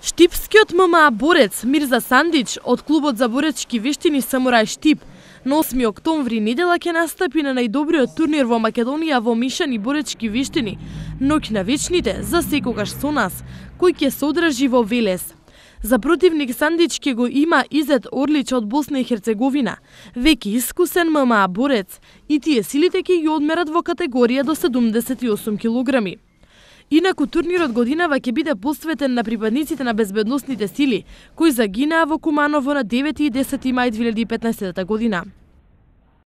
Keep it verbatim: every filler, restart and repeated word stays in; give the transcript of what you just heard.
Штипскиот ММА борец Мирза Сандич од клубот за боречки вештини Самурај Штип на осми октомври недела ќе настапи на најдобриот турнир во Македонија во мишани боречки вештини Ноќ на вечните за секогаш со нас, кој ќе се одржи во Велес. За противник Сандич ќе го има Изет Орлич од Босна и Херцеговина, веќе искусен ММА борец, и тие силите ќе ги одмерат во категорија до седумдесет и осум килограми. Инаку турнирот годинава ќе биде посветен на припадниците на безбедносните сили, кои загинаа во Куманово на девети и десети мај две илјади и петнаесетта година.